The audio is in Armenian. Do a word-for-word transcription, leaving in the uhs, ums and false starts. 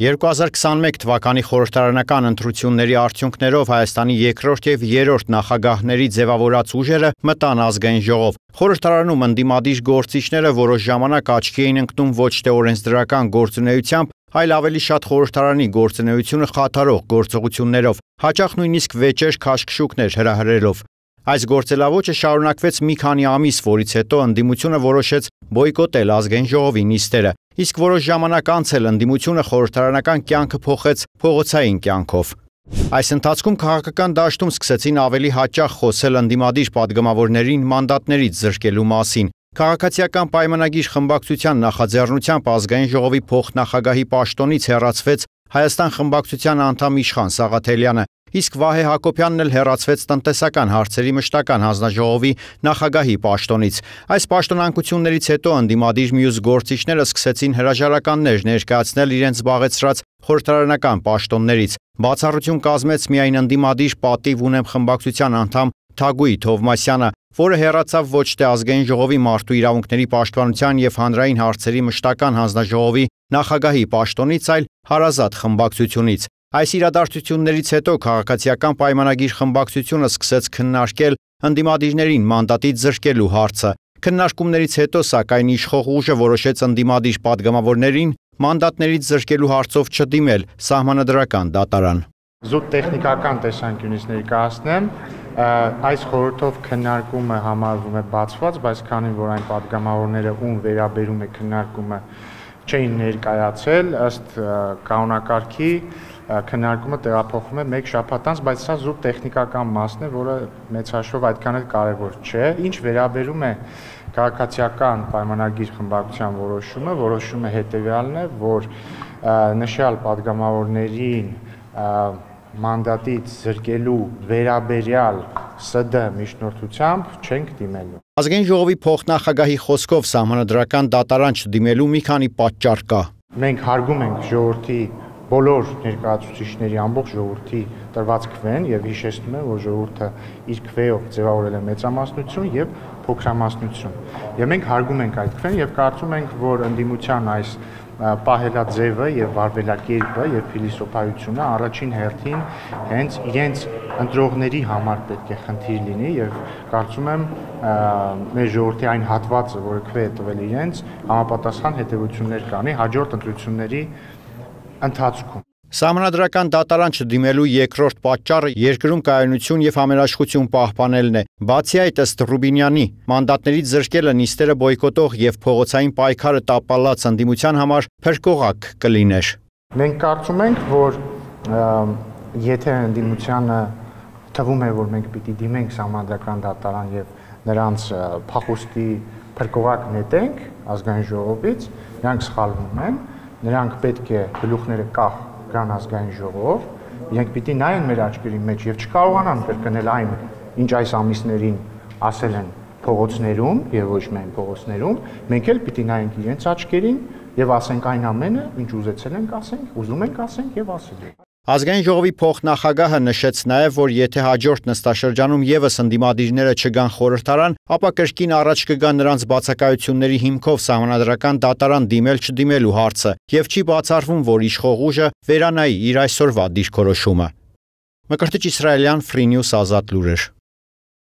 երկու հազար քսանմեկ թվականի խորհրդարանական ընտրությունների արդյունքներով Հայաստանի երկրորդ եւ երրորդ նախագահների ձևավորած ուժերը մտան ազգային ժողով։ Խորհրդարանում ընդդիմադիր գործիչները որոշ ժամանակ աչքի էին ընկնում ոչ թե օրենսդրական գործունեությամբ, այլ ավելի շատ խորհրդարանի գործունեությունը խաթարող գործողություններով, հաճախ նույնիսկ վեճեր քաշքշուկներ հրահրելով։ Այս գործելավոճը շարունակվեց մի քանի ամիս, որից հետո ընդդիմությունը որոշեց բոյկոտել ազգային ժողովի նիստերը, իսկ որոշ ժամանակ անց էլ ընդդիմությունը խորհրդարանական կյանքը փոխեց փողոցային կյանքով։ Այս ընթացքում քաղաքական դաշտում սկսեցին ավելի հաճախ խոսել ընդդիմադիր падգամավորներին մանդատներից զրկելու մասին։ Քաղաքացիական պայմանագիր խմբակցության նախաձեռնությամբ ազգային ժողովի փոխնախագահի պաշտոնից հեռացվեց Հայաստան խմբակցության անդամ Իշխան Սաղաթելյանը, իսկ Վահե Հակոբյանն էլ հեռացվեց տնտեսական հարցերի մշտական հանձնաժողովի նախագահի պաշտոնից։ Այս պաշտոնանկություններից հետո ընդդիմադիր մյուս գործիչները սկսեցին հրաժարականներ ներկայացնել իրենց զբաղեցրած խորհրդարանական պաշտոններից։ Բացառություն կազմեց միայն ընդդիմադիր պատիվ ունեմ խմբակցության անդամ Թագուհի Թովմասյանը, որը հեռացավ ոչ թե ազգային ժողովի մարդու իրավունքների պաշտպանության եւ հանրային հարցերի մշտական հանձնաժողովի նախագահի պաշտոնից, այլ հարազատ խմբակցությունից։ Այս իրադարձություններից հետո քաղաքացիական պայմանագիր խմբակցությունը սկսեց քննարկել ընդդիմադիրներին մանդատից զրկելու հարցը։ Քննարկումներից հետո, սակայն, իշխող ուժը որոշեց ընդդիմադիր падգամավորներին մանդատներից զրկելու հարցով չդիմել սահմանադրական դատարան։ Զուտ տեխնիկական տեսանկյունից ներկայացնեմ, այս խորհրդով քննարկումը համարվում է բացված, բայց քանի որ այն падգամավորները, ում վերաբերում է քննարկումը, չէին ներկայացել, ըստ կանոնակարգի քննարկումը տեղափոխվում է մեկ շաբաթ անց, բայց սա զուտ տեխնիկական մասն է, որը մեծ հաշվով այդքան էլ կարևոր չէ։ Ինչ վերաբերում է քաղաքացիական պայմանագիր խմբակցության որոշումը, որոշումը հետևյալն է, որ նշյալ падգամավորներին մանդատից զրկելու վերաբերյալ ՍԴ միջնորդությամբ չենք դիմելու։ Ազգային ժողովի փոխնախագահի խոսքով սահմանադրական դատարան չդիմելու մի քանի պատճառ կա։ Մենք հարգում ենք ժողովրդի բոլոր ներկայացուցիչների ամբողջ ժողովրդի տրված քվեն եւ հիշեցնում եմ, որ ժողովուրդը իր քվեով ձևավորել է մեծամասնություն եւ փոքրամասնություն։ Եվ մենք հարգում ենք այդ քվեն եւ կարծում ենք, որ ընդդիմության այս պահելաձևը եւ վարվելակերպը եւ փիլիսոփայությունը առաջին հերթին հենց իրենց ընտրողների համար պետք է խնդիր լինի եւ կարծում եմ մեր ժողովրդի այն հատվածը, որը քվե է տվել իրենց, համապատասխան հետեւություններ կանի հաջորդ ընտրությունների ընթացքում։ Սահմանադրական դատարան չդիմելու երկրորդ պատճառը երկրում կայունություն եւ համերաշխություն պահպանելն է։ Բացի այդ, ըստ Ռուբինյանի, մանդատներից զրկելը նիստերը բոյկոտող եւ փողոցային պայքարը տապալած ընդդիմության համար փրկողակ կլիներ։ Մենք կարծում ենք, որ եթե ընդդիմությանը թվում է, որ մենք պիտի դիմենք սահմանադրական դատարան եւ նրանց փախուստի փրկողակ նետենք ազգային ժողովից, նրանք սխալվում են, նրանք պետք է գլուխները կախ գան ազգային ժողով, իրենք պիտի նայեն մեր աչքերի մեջ եւ չկարողանան կրկնել այն, ինչ այս ամիսներին ասել են փողոցներում եւ ոչ միայն փողոցներում, մենք էլ պիտի նայենք իրենց աչքերին եւ ասենք այն ամենը, ինչ ուզեցել ենք ասենք, ուզում ենք ասենք եւ ասել ենք։ Ազգային ժողովի փոխնախագահը նշեց նաև, որ եթե հաջորդ նստաշրջանում եւս ընդդիմադիրները չգան խորհրդարան, ապա կրկին առաջ կգա նրանց բացակայությունների հիմքով սահմանադրական դատարան դիմել-չդիմելու հարցը, եւ չի բացառվում, որ իշխող ուժը վերանայի իր այսօրվա դիրքորոշումը։ Մկրտիչ Իսրայելյան, Free News, Ազատ լուրեր։